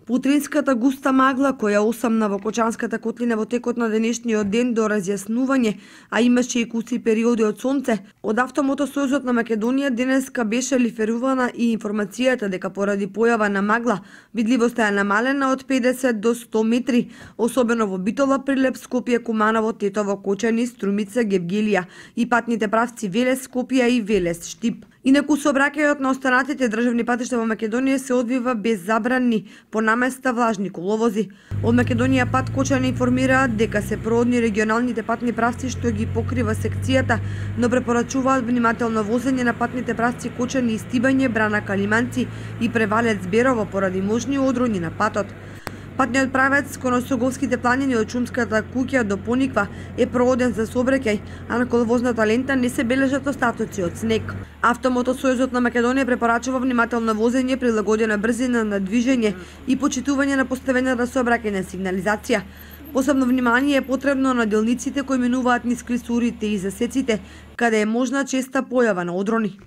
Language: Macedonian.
Путринската густа магла која осамна во Кочанската котлина во текот на денешниот ден до разјаснување, а имаше и куци периоди од сонце, од Автомотосојузот на Македонија денеска беше лиферувана и информацијата дека поради појава на магла, видливоста е намалена од 50 до 100 метри, особено во Битола, Прилеп, Скопје, Куманово, Тетово, Кочани, Струмица, Гевгелија и патните правци Велес, Скопје и Велес, Штип. Инаку сообраќајот на останатите државни патишта во Македонија се одвива без забрани, по наместа влажни коловози. Од Македонија пат Кочани информираат дека се проодни регионалните патни правци што ги покрива секцијата, но препорачуваат внимателно возење на патните правци Кочани и Стибање, Брана, Калиманци и Превалец, Берово поради можни одроњи на патот. Патниот правец кон Осоговските планини од Шумската куќа до Пониква е прооден за сообраќај, а на коловозната лента не се бележат остатоци од снег. Автомотосојузот на Македонија препорачува внимателно возење, прилагодена брзина на движење и почитување на поставената сообраќајна сигнализација. Посебно внимание е потребно на делниците кои минуваат низ клисурите и засеците, каде е можна честа појава на одрони.